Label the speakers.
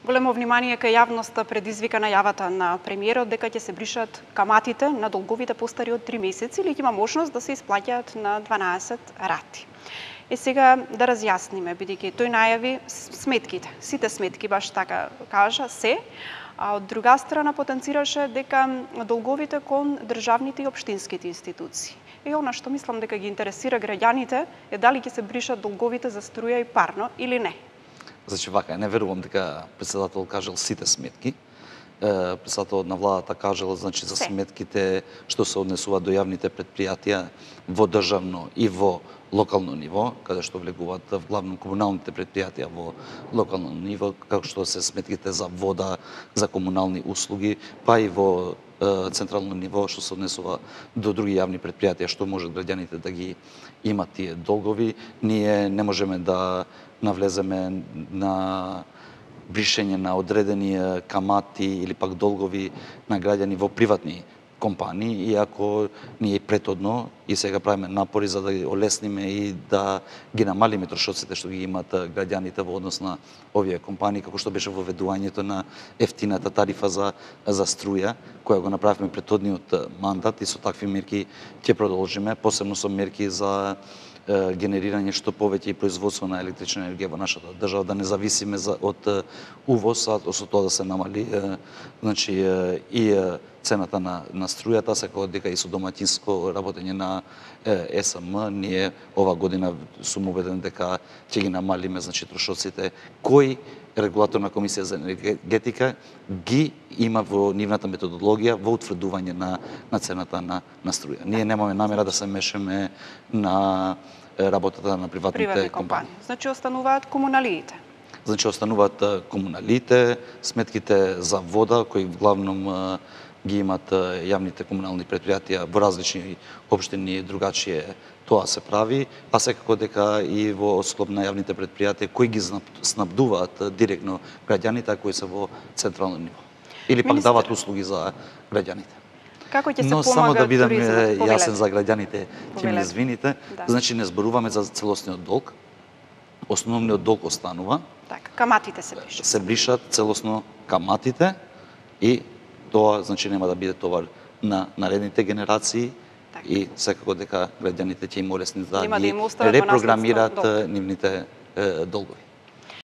Speaker 1: Големо внимание кај јавноста предизвика најавата на премиерот дека ќе се бришат каматите на долговите постари од 3 месеци или ќе има можност да се исплаќаат на 12 рати. Сега да разјасниме, бидејќи тој најави сметките, сите сметки баш така кажа се, а од друга страна потенцираше дека долговите кон државните и општинските институции. И она што мислам дека ги интересира граѓаните е дали ќе се бришат долговите за струја и парно или не.
Speaker 2: Значи вака, не верувам дека председател кажал сите сметки. Председателот на владата кажал значи за сметките што се однесуваат до јавните предпријатија во државно и во локално ниво, каде што влегуваат главно комуналните предпријатија во локално ниво, како што се сметките за вода, за комунални услуги, па и во централно ниво што се однесува до други јавни предпријатија што можат граѓаните да ги имат тие долгови. Ние не можеме да навлеземе на бришење на одредени камати или пак долгови на граѓани во приватни компании, иако ние претhodно и сега правиме напори за да ги олесниме и да ги намалиме трошоците што ги имаат граѓаните во однос на овие компании, како што беше воведувањето на ефтината тарифа за струја, која го направивме претходниот мандат и со такви мерки ќе продолжиме, посебно со мерки за генерирање што повеќе и производство на електрична енергија во нашата држава, да не зависиме од увоз, а со тоа да се намали значи и цената на струјата, секако дека и со домаќинско работење на ЕСМ, ние ова година сум убеден дека ќе ги намалиме значи трошоците кои Регулаторна комисија за енергетика ги има во нивната методологија во утврдување на цената на струја. Ние немаме намера да се мешаме на работата на приватните компании.
Speaker 1: Значи остануваат комуналиите.
Speaker 2: Значи остануваат комуналиите, сметките за вода кои главном ги имат јавните комунални предпријатија во различни општини другачие тоа се прави, а секако дека и во склоп на јавните предпријатија кои ги снабдуваат директно граѓаните, а кои се во централно ниво. Или пак дават услуги за граѓаните.
Speaker 1: Како ќе се
Speaker 2: помага туризмот? Но само да бидам јасен за граѓаните, ќе ми извините, значи не зборуваме за целосниот долг. Основниот долг останува.
Speaker 1: Така, каматите се бришат.
Speaker 2: Се бришат целосно каматите и тоа значи нема да биде товар на наредните генерации и секако дека граѓаните ќе им олесни да ги репрограмираат нивните долгови.